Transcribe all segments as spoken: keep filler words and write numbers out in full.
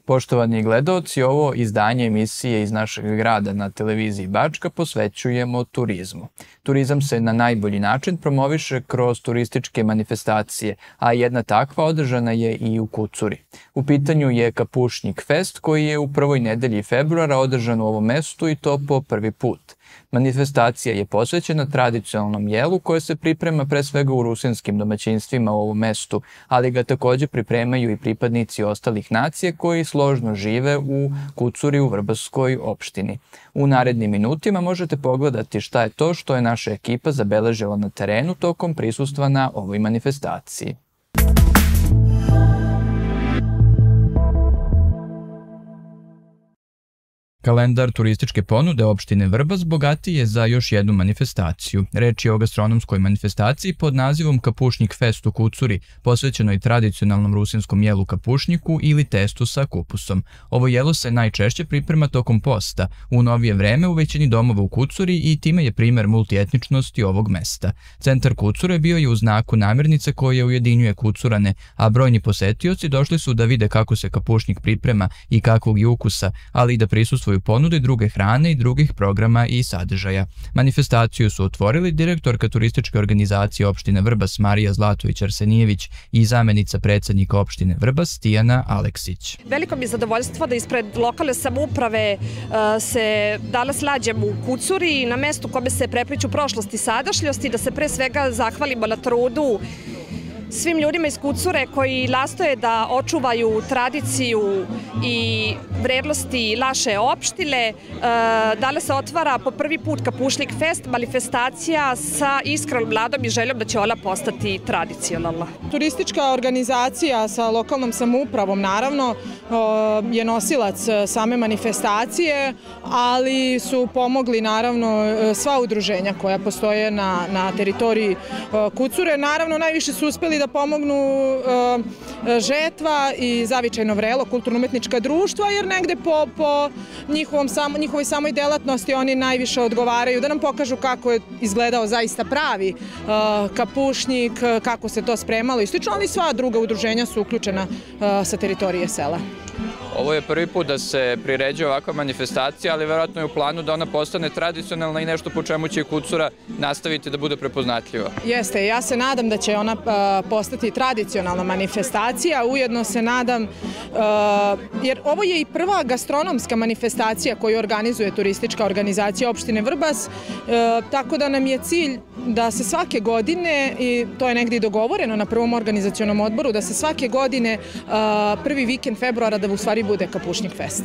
Poštovani gledaoci, ovo izdanje emisije iz našeg grada na televiziji Bačka posvećujemo turizmu. Turizam se na najbolji način promoviše kroz turističke manifestacije, a jedna takva održana je i u Kucuri. U pitanju je Kapušnjik fest koji je u prvoj nedelji februara održan u ovom mestu i to po prvi put. Manifestacija je posvećena tradicionalnom jelu koje se priprema pre svega u rusinskim domaćinstvima u ovom mestu, ali ga takođe pripremaju i pripadnici ostalih nacije koji složno žive u Kucuri u Vrbaskoj opštini. U narednim minutima možete pogledati šta je to što je naša ekipa zabeležila na terenu tokom prisustva na ovoj manifestaciji. Kalendar turističke ponude opštine Vrbas bogatiji je za još jednu manifestaciju. Reč je o gastronomskoj manifestaciji pod nazivom Kapušnjik fest u Kucuri, posvećenoj tradicionalnom rusinskom jelu kapušnjiku ili testu sa kupusom. Ovo jelo se najčešće priprema tokom posta, u novije vreme u većini domova u Kucuri i time je primer multietničnosti ovog mesta. Centar Kucure bio je u znaku namirnice koje ujedinjuje Kucurane, a brojni posetioci došli su da vide kako se kapušnjik priprema i kakvog je ukusa, ali i da prisustvuju ponude druge hrane i drugih programa i sadržaja. Manifestaciju su otvorili direktorka turističke organizacije opštine Vrbas Marija Zlatović-Arsenijević i zamenica predsednika opštine Vrbas Tijana Aleksić. Veliko mi je zadovoljstvo da ispred lokalne samouprave se danas nađemo u Kucuri na mestu kome se prepliću prošlost i sadašnjost i da se pre svega zahvalimo na trudu svim ljudima iz Kucure koji nastoje da očuvaju tradiciju i vrednosti naše opštine. Danas se otvara po prvi put Kapušnjik fest, manifestacija sa iskrenom nadom i željom da će ona postati tradicionalna. Turistička organizacija sa lokalnom samoupravom naravno je nosilac same manifestacije, ali su pomogli naravno sva udruženja koja postoje na, na teritoriji Kucure. Naravno najviše su uspeli da pomognu Žetva i Zavičajno vrelo, kulturno-umetnička društva, jer negde po, po njihovom, sam, njihovoj samoj delatnosti oni najviše odgovaraju da nam pokažu kako je izgledao zaista pravi kapušnjik, kako se to spremalo i slično, ali sva druga udruženja su uključena sa teritorije sela. Ovo je prvi put da se priređuje ovakva manifestacija, ali verovatno je u planu da ona postane tradicionalna i nešto po čemu će Kucura nastaviti da bude prepoznatljiva. Jeste, ja se nadam da će ona postati tradicionalna manifestacija, ujedno se nadam, jer ovo je i prva gastronomska manifestacija koju organizuje turistička organizacija opštine Vrbas, tako da nam je cilj da se svake godine, i to je negdje dogovoreno na prvom organizacionom odboru, da se svake godine prvi vikend februara da u stvari bude Kapušnjik fest.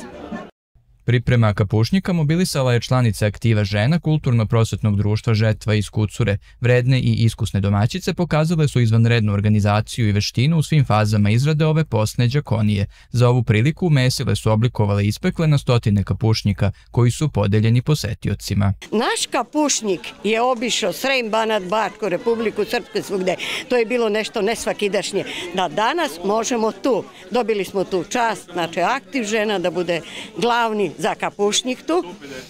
Priprema kapušnjika mobilisala je članice aktiva žena Kulturno-prosvetnog društva Žetva iz Kucure. Vredne i iskusne domaćice pokazale su izvanrednu organizaciju i veštinu u svim fazama izrade ove postne đakonije. Za ovu priliku mesile su oblikovale i ispekle na stotine kapušnjika koji su podeljeni posetiocima. Naš kapušnjik je obišao Srem, Banat, Bačku, Republiku Srpsku, svugde. To je bilo nešto nesvakidašnje. Da danas možemo tu, dobili smo tu čast, znači aktiv žena da bude glavni za kapušnjik tu,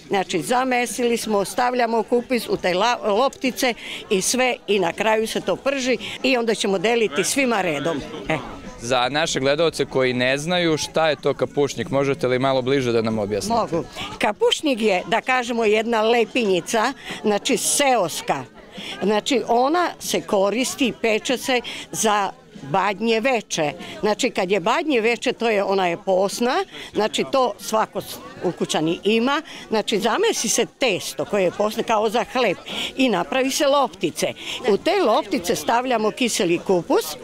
znači zamesili smo, stavljamo kupus u te loptice i sve i na kraju se to prži i onda ćemo deliti svima redom. E. Za naše gledaoce koji ne znaju šta je to kapušnjik, možete li malo bliže da nam objasnite? Mogu. Kapušnjik je, da kažemo, jedna lepinjica, znači seoska. Znači ona se koristi, peče se za badnje veče. Znači kad je badnje veče, to je, ona je posna, znači to svako u kućani ima, znači zamesi se testo koje je posna kao za hleb i napravi se loptice. U te loptice stavljamo kiseli kupus, e,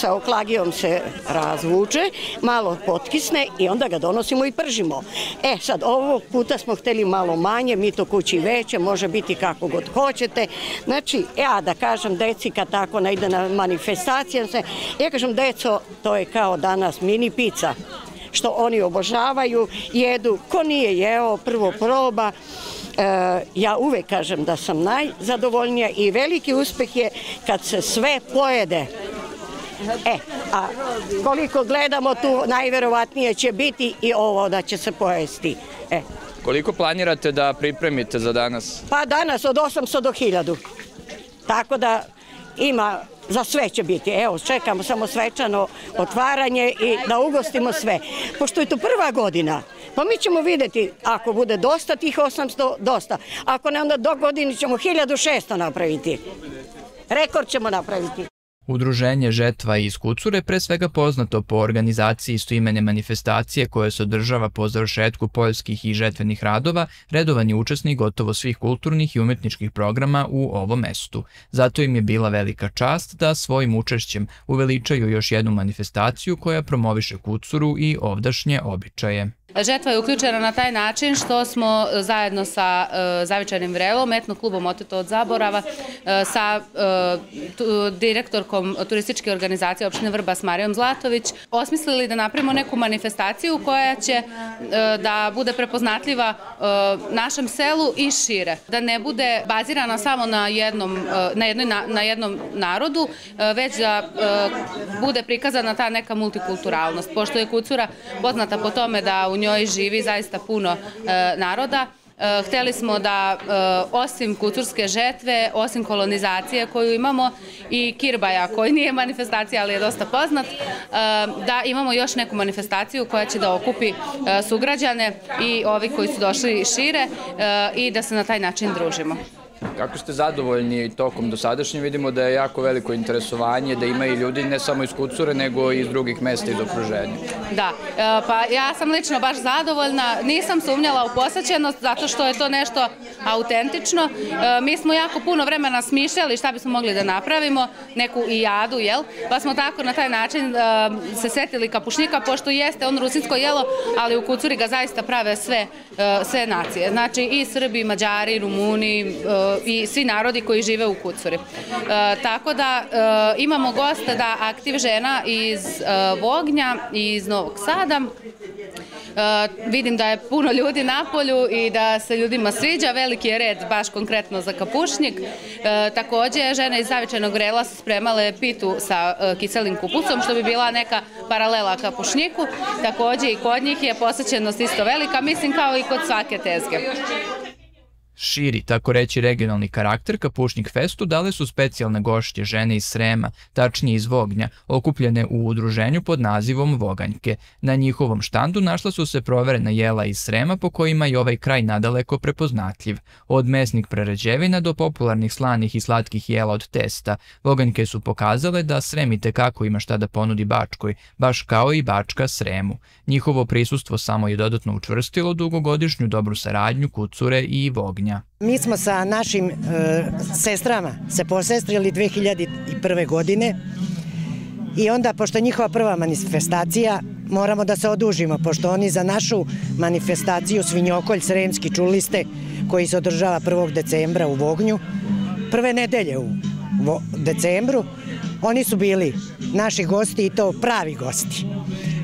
sa oklagijom se razvuče, malo potkisne i onda ga donosimo i pržimo. E sad ovog puta smo hteli malo manje, mi to kući veće, može biti kako god hoćete. Znači ja da kažem deci kad tako ne ide na manifestacije, ja kažem, deco, to je kao danas mini pizza, što oni obožavaju, jedu, ko nije jeo, prvo proba. E, ja uvek kažem da sam najzadovoljnija i veliki uspeh je kad se sve pojede. E, a koliko gledamo tu, najverovatnije će biti i ovo da će se pojesti. E. Koliko planirate da pripremite za danas? Pa danas od osamsto do hiljadu. Tako da ima, za sve će biti. Evo, čekamo samo svečano otvaranje i da ugostimo sve. Pošto je to prva godina, pa mi ćemo vidjeti, ako bude dosta tih osamsto, dosta. Ako ne, onda do godine ćemo hiljadu šesto napraviti. Rekord ćemo napraviti. Udruženje Žetva iz Kucure pre svega poznato po organizaciji istoimene manifestacije koja se održava po završetku poljskih i žetvenih radova, redovan je učesnik gotovo svih kulturnih i umetničkih programa u ovom mestu. Zato im je bila velika čast da svojim učešćem uveličaju još jednu manifestaciju koja promoviše Kucuru i ovdašnje običaje. Žetva je uključena na taj način što smo zajedno sa Zavičajnim vrelom, etno klubom Oteto od zaborava, sa direktorkom turističke organizacije opštine Vrbas Marijom Zlatović, osmislili da napravimo neku manifestaciju koja će da bude prepoznatljiva našem selu i šire. Da ne bude bazirana samo na jednom, na jednoj, na jednom narodu, već da bude prikazana ta neka multikulturalnost. Pošto je Kucura poznata po tome da u njoj živi zaista puno naroda, hteli smo da osim kucurske žetve, osim kolonizacije koju imamo i kirbaja koji nije manifestacija ali je dosta poznat, da imamo još neku manifestaciju koja će da okupi sugrađane i ovi koji su došli šire i da se na taj način družimo. Kako ste zadovoljni tokom dosadašnje? Vidimo da je jako veliko interesovanje, da ima i ljudi ne samo iz Kucure, nego i iz drugih mesta iz okruženja. Da, pa ja sam lično baš zadovoljna. Nisam sumnjala u posvećenost zato što je to nešto autentično. Mi smo jako puno vremena smišljali šta bismo mogli da napravimo, neku ijadu, jel? Pa smo tako na taj način se setili kapušnika, pošto jeste on rusinsko jelo, ali u Kucuri ga zaista prave sve, sve nacije. Znači i Srbi, i Mađari, i Rumuni, i svi narodi koji žive u Kucuri. Tako da imamo gosta da aktiv žena iz Vognja i iz Novog Sada. Vidim da je puno ljudi na polju i da se ljudima sviđa, veliki je red baš konkretno za kapušnik. Također žene iz Zavičajnog vrela su spremale pitu sa kiselim kupusom, što bi bila neka paralela kapušniku. Također i kod njih je posvećenost isto velika, mislim kao i kod svake tezge. Širi, tako reći regionalni karakter Kapušnik festu dale su specijalne gošće žene iz Srema, tačnije iz Vognja, okupljene u udruženju pod nazivom Voganjke. Na njihovom štandu našla su se proverena jela iz Srema po kojima je ovaj kraj nadaleko prepoznatljiv. Od mesnih prerađevina do popularnih slanih i slatkih jela od testa, Voganjke su pokazale da Srem itekako ima šta da ponudi Bačkoj, baš kao i Bačka Sremu. Njihovo prisustvo samo je dodatno učvrstilo dugogodišnju dobru saradnju Kucure i Vognja. Mi smo sa našim e, sestrama se posestrili dve hiljade prve. godine i onda, pošto je njihova prva manifestacija, moramo da se odužimo, pošto oni za našu manifestaciju Svinjokolj Sremski, čuli ste, koji se održava prvog decembra u Vognju, prve nedelje u decembru, oni su bili naši gosti i to pravi gosti.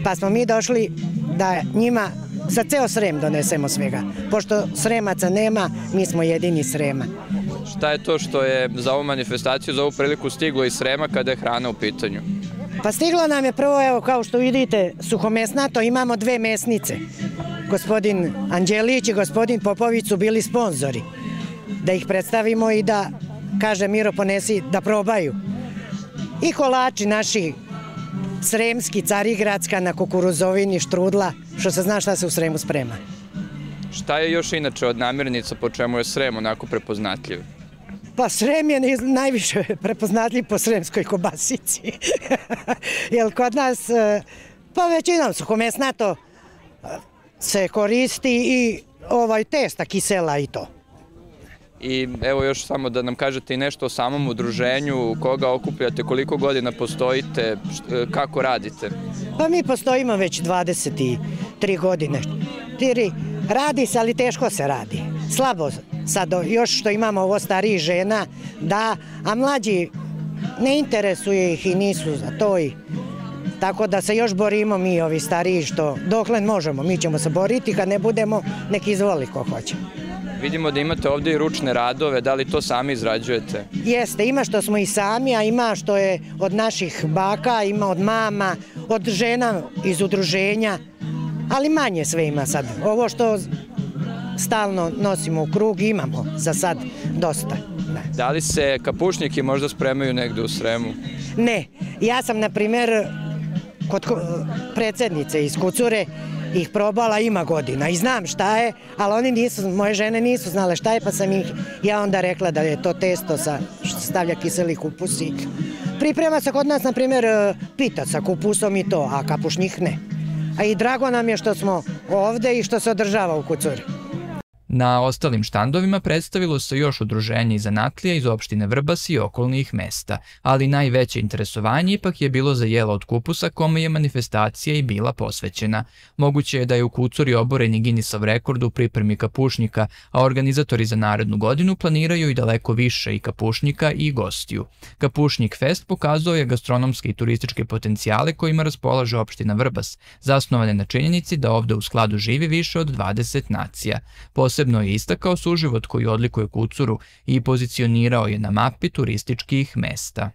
Pa smo mi došli da njima za ceo Srem donesemo svega. Pošto Sremaca nema, mi smo jedini Srema. Šta je to što je za ovu manifestaciju, za ovu priliku stiglo iz Srema kada je hrana u pitanju? Pa stiglo nam je prvo, evo, kao što vidite, suhomesnato, imamo dve mesnice. Gospodin Anđelić i gospodin Popović su bili sponzori. Da ih predstavimo i da, kaže Miro, ponesi da probaju. I kolači naši sremski, carigradska, na kukuruzovini, štrudla, što se zna šta se u Sremu sprema. Šta je još inače od namirnica po čemu je Srem onako prepoznatljiv? Pa Srem je najviše prepoznatljiv po sremskoj kobasici. Jer kod nas, pa većinom suhomesnato se koristi i ovaj testa kisela i to. I evo još samo da nam kažete i nešto o samom udruženju, koga okupljate, koliko godina postojite, kako radite? Pa mi postojimo već dvadeset tri godine. Radi se, ali teško se radi. Slabo sad, još što imamo ovo stariji žena, da, a mlađi ne interesuje ih i nisu za to. Tako da se još borimo mi, ovi stariji, što dokle možemo, mi ćemo se boriti, kad ne budemo, nek izvoli ko hoće. Vidimo da imate ovdje i ručne radove, da li to sami izrađujete? Jeste, ima što smo i sami, a ima što je od naših baka, ima od mama, od žena iz udruženja, ali manje sve ima sad. Ovo što stalno nosimo u krug imamo za sad dosta. Da li se kapušnjaki možda spremaju negde u Sremu? Ne, ja sam na primjer kod predsjednice iz Kucure ih probala ima godina i znam šta je, ali oni nisu, moje žene nisu znale šta je, pa sam ih ja onda rekla da je to testo sa, što stavlja kiseli kupus i priprema se kod nas, na primjer, pita sa kupusom i to, a kapušnjih ne. A i drago nam je što smo ovde i što se održava u Kucuri. Na ostalim štandovima predstavilo se još udruženje i zanatlija iz opštine Vrbas i okolnih mesta, ali najveće interesovanje ipak je bilo za jelo od kupusa kome je manifestacija i bila posvećena. Moguće je da je u Kucuri oboren i Guinnessov rekord u pripremi kapušnjika, a organizatori za narednu godinu planiraju i daleko više i kapušnjika i gostiju. Kapušnjik Fest pokazao je gastronomske i turističke potencijale kojima raspolaže opština Vrbas, zasnovane na činjenici da ovde u skladu živi više od dvadeset nacija. Posebno je istakao suživot koji odlikuje Kucuru i pozicionirao je na mapi turističkih mesta.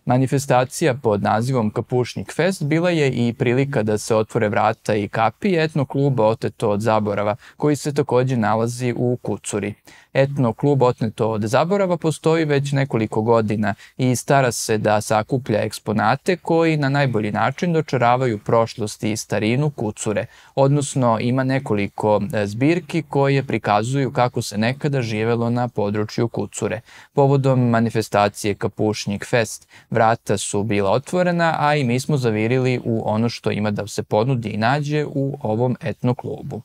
Manifestacija pod nazivom Kapušnjik Fest bila je i prilika da se otvore vrata i kapi etno kluba Oteto od zaborava, koji se takođe nalazi u Kucuri. Etno klub Oteto od zaborava postoji već nekoliko godina i stara se da sakuplja eksponate koji na najbolji način dočaravaju prošlost i starinu Kucure, odnosno ima nekoliko zbirki koje prikazuju kako se nekada živelo na području Kucure. Povodom manifestacije Kapušnjik Fest vrata su bila otvorena, a i mi smo zavirili u ono što ima da se ponudi i nađe u ovom etno klubu.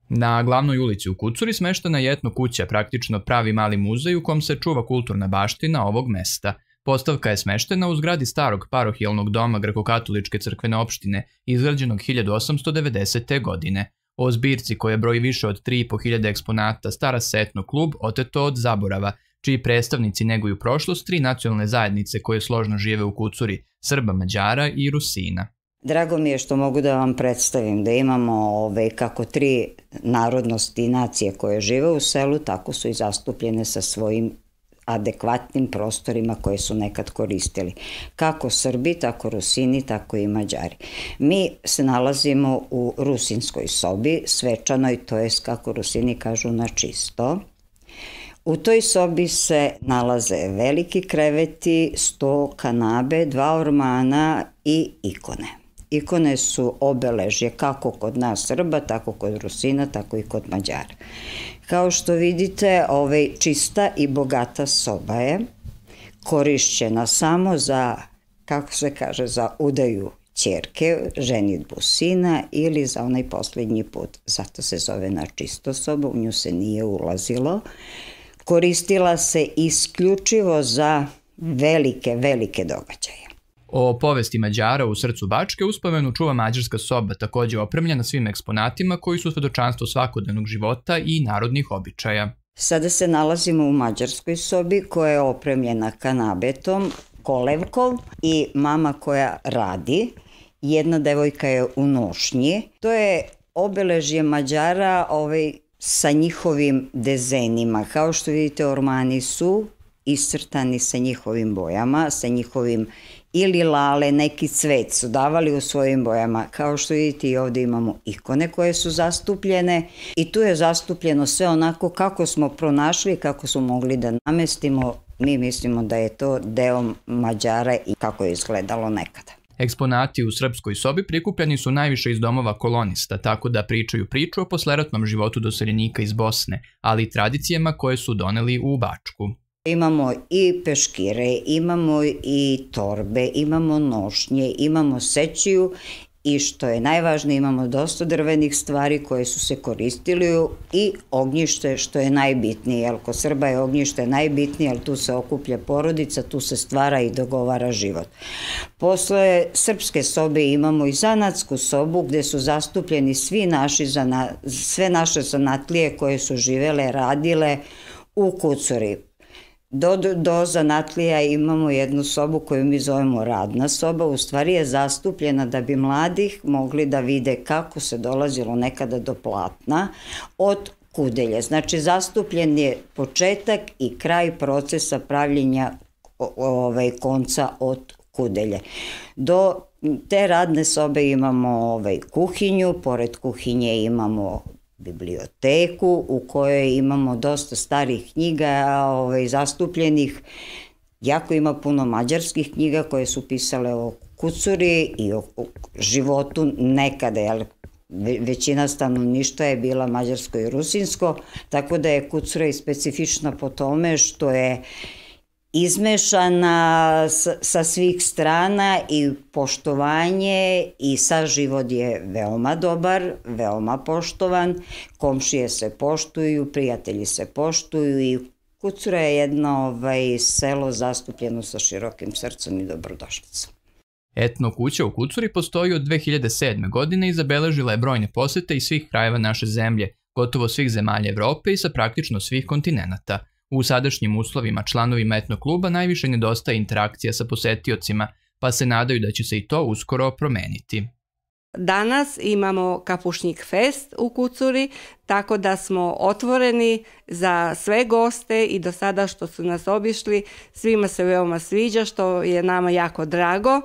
Na glavnoj ulici u Kucuri smeštena je etno kuća, praktično pravi mali muzej u kom se čuva kulturna baština ovog mesta. Postavka je smeštena u zgradi starog parohijalnog doma Grekokatoličke crkvene opštine, izgrađenog hiljadu osamsto devedesete. godine. O zbirci koja broji više od tri i po hiljade eksponata stara se etno klub Oteto od zaborava, čiji predstavnici neguju prošlost tri nacionalne zajednice koje složno žive u Kucuri, Srba, Mađara i Rusina. Drago mi je što mogu da vam predstavim da imamo ove, kako tri narodnosti i nacije koje žive u selu, tako su i zastupljene sa svojim adekvatnim prostorima koje su nekad koristili. Kako Srbi, tako Rusini, tako i Mađari. Mi se nalazimo u rusinskoj sobi, svečanoj, to jest kako Rusini kažu na čisto. U toj sobi se nalaze veliki kreveti, sto kanabe, dva ormana i ikone. Ikone su obeležje kako kod nas Srba, tako kod Rusina, tako i kod Mađara. Kao što vidite, ovaj čista i bogata soba je korišćena samo za, kako se kaže, za udaju ćerke, ženidbu sina ili za onaj posljednji put. Zato se zove na čisto soba, u nju se nije ulazilo. Koristila se isključivo za velike, velike događaje. O povesti Mađara u srcu Bačke uspomenu čuva mađarska soba, takođe opremljena svim eksponatima koji su svedočanstvo svakodnevnog života i narodnih običaja. Sada se nalazimo u mađarskoj sobi koja je opremljena kanabetom, kolevkom i mama koja radi. Jedna devojka je u nošnji. To je obeležje Mađara ovaj, sa njihovim dezenima. Kao što vidite, ormani su iscrtani sa njihovim bojama, sa njihovim ili lale, neki cvet su davali u svojim bojama. Kao što vidite i ovde imamo ikone koje su zastupljene i tu je zastupljeno sve onako kako smo pronašli, kako smo mogli da namestimo. Mi mislimo da je to deo Mađara i kako je izgledalo nekada. Eksponati u srpskoj sobi prikupljeni su najviše iz domova kolonista, tako da pričaju priču o posleratnom životu doseljenika iz Bosne, ali i tradicijama koje su doneli u Bačku. Imamo i peškire, imamo i torbe, imamo nošnje, imamo sećiju i što je najvažnije imamo dosta drvenih stvari koje su se koristili i ognjište što je najbitnije, jer kod Srba je ognjište najbitnije, jer tu se okuplja porodica, tu se stvara i dogovara život. Posle srpske sobe imamo i zanatsku sobu gde su zastupljeni svi naši, sve naše zanatlije koje su živele, radile u Kucuri. Do, do zanatlija imamo jednu sobu koju mi zovemo radna soba, u stvari je zastupljena da bi mladih mogli da vide kako se dolazilo nekada do platna od kudelje. Znači zastupljen je početak i kraj procesa pravljenja ovaj, konca od kudelje. Do te radne sobe imamo ovaj, kuhinju, pored kuhinje imamo biblioteku u kojoj imamo dosta starih knjiga ovaj, zastupljenih. Jako ima puno mađarskih knjiga koje su pisale o Kucuri i o životu nekada, jer većina stanovništva je bila mađarsko i rusinsko, tako da je Kucura i specifična po tome što je izmešana sa svih strana i poštovanje i saživot je veoma dobar, veoma poštovan, komšije se poštuju, prijatelji se poštuju i Kucura je jedno ovaj, selo zastupljeno sa širokim srcem i dobrodošlicom. Etno kuća u Kucuri postoji od dve hiljade sedme. godine i zabeležila je brojne posete iz svih krajeva naše zemlje, gotovo svih zemalja Evrope i sa praktično svih kontinenata. U sadašnjim uslovima članovima etno kluba najviše nedostaje interakcija sa posetiocima, pa se nadaju da će se i to uskoro promeniti. Danas imamo Kapušnik fest u Kucuri, tako da smo otvoreni za sve goste i do sada što su nas obišli, svima se veoma sviđa, što je nama jako drago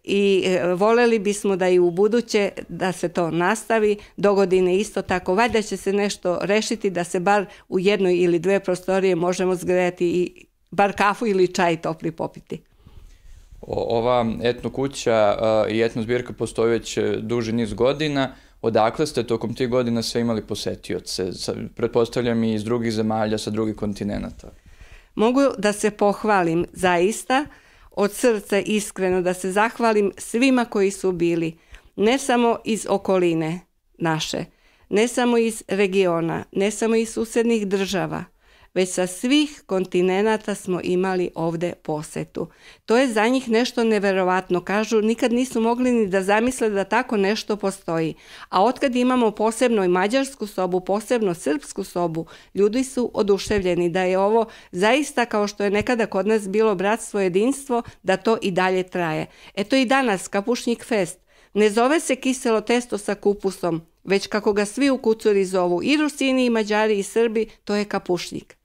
i voljeli bismo da i u buduće da se to nastavi, do godine isto tako. Valjda će se nešto rešiti da se bar u jednoj ili dve prostorije možemo zgrejati i bar kafu ili čaj topli popiti. Ova etno kuća i etno zbirka postoji već duži niz godina. Odakle ste tokom tih godina sve imali posetioce? Pretpostavljam i iz drugih zemalja, sa drugih kontinenata. Mogu da se pohvalim zaista, od srca iskreno da se zahvalim svima koji su bili, ne samo iz okoline naše, ne samo iz regiona, ne samo iz susednih država, već sa svih kontinenata smo imali ovde posetu. To je za njih nešto neverovatno. Kažu, nikad nisu mogli ni da zamisle da tako nešto postoji. A otkad imamo posebno i mađarsku sobu, posebno srpsku sobu, ljudi su oduševljeni da je ovo zaista, kao što je nekada kod nas bilo bratstvo, jedinstvo, da to i dalje traje. Eto i danas Kapušnik fest ne zove se kiselo testo sa kupusom, već kako ga svi u Kucuri zovu, i Rusini, i Mađari, i Srbi, to je kapušnik.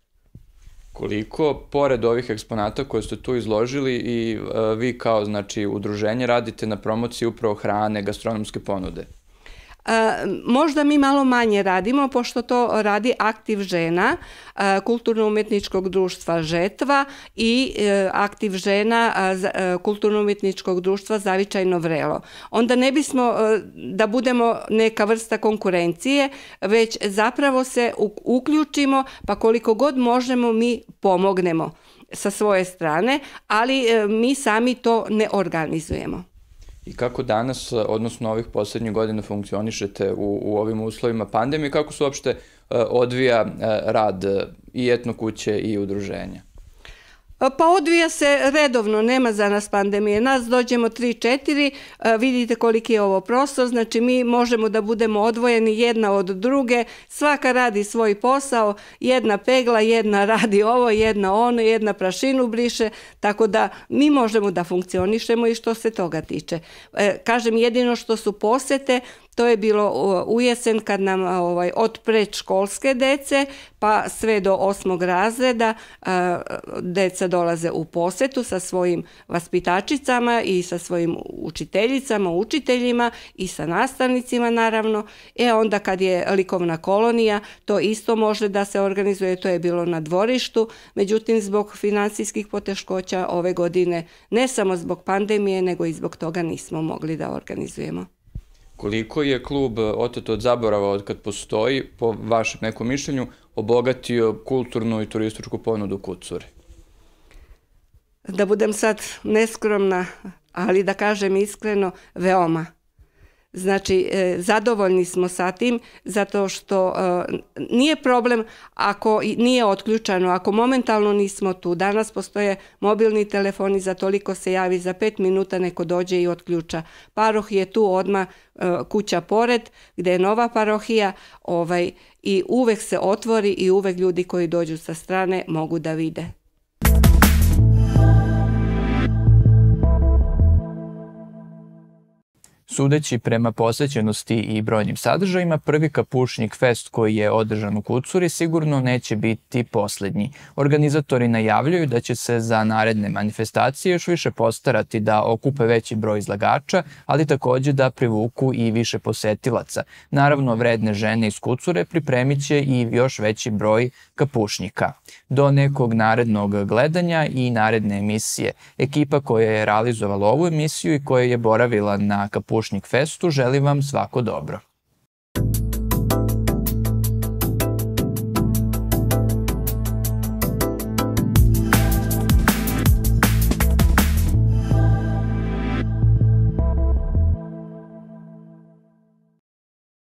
Koliko, pored ovih eksponata koje ste tu izložili, i vi kao znači udruženje radite na promociji upravo hrane, gastronomske ponude? Možda mi malo manje radimo, pošto to radi Aktiv žena, kulturno-umetničkog društva Žetva i Aktiv žena kulturno-umetničkog društva Zavičajno vrelo. Onda ne bismo da budemo neka vrsta konkurencije, već zapravo se uključimo, pa koliko god možemo mi pomognemo sa svoje strane, ali mi sami to ne organizujemo. I kako danas, odnosno ovih posljednjih godina, funkcionišete u, u ovim uslovima pandemije, kako se uopšte uh, odvija uh, rad i etno kuće i udruženja? Pa odvija se redovno, nema za nas pandemije. Nas dođemo tri četiri, vidite koliki je ovo prostor, znači mi možemo da budemo odvojeni jedna od druge, svaka radi svoj posao, jedna pegla, jedna radi ovo, jedna ono, jedna prašinu briše, tako da mi možemo da funkcionišemo i što se toga tiče. Kažem, jedino što su posete, to je bilo u jesen kad nam ovaj, od predškolske dece pa sve do osmog razreda a, deca dolaze u posetu sa svojim vaspitačicama i sa svojim učiteljicama, učiteljima i sa nastavnicima naravno. E onda kad je likovna kolonija, to isto može da se organizuje, to je bilo na dvorištu, međutim zbog finansijskih poteškoća ove godine, ne samo zbog pandemije, nego i zbog toga nismo mogli da organizujemo. Koliko je klub Oteto od zaborava, od kad postoji, po vašem nekom mišljenju, obogatio kulturnu i turističku ponudu u Kucuri? Da budem sad neskromna, ali da kažem iskreno, veoma. Znači, zadovoljni smo sa tim, zato što nije problem ako nije otključano, ako momentalno nismo tu. Danas postoje mobilni telefoni, za toliko se javi, za pet minuta neko dođe i otključa. Paroh je tu odmah, kuća pored, gde je nova parohija, ovaj, i uvek se otvori i uvek ljudi koji dođu sa strane mogu da vide. Sudeći prema posvećenosti i brojnim sadržajima, prvi Kapušnik fest koji je održan u Kucuri sigurno neće biti poslednji. Organizatori najavljuju da će se za naredne manifestacije još više postarati da okupe veći broj izlagača, ali takođe da privuku i više posetilaca. Naravno, vredne žene iz Kucure pripremit će i još veći broj kapušnika. Do nekog narednog gledanja i naredne emisije. Ekipa koja je realizovala ovu emisiju i koja je boravila na Kapušnik festu želi vam svako dobro.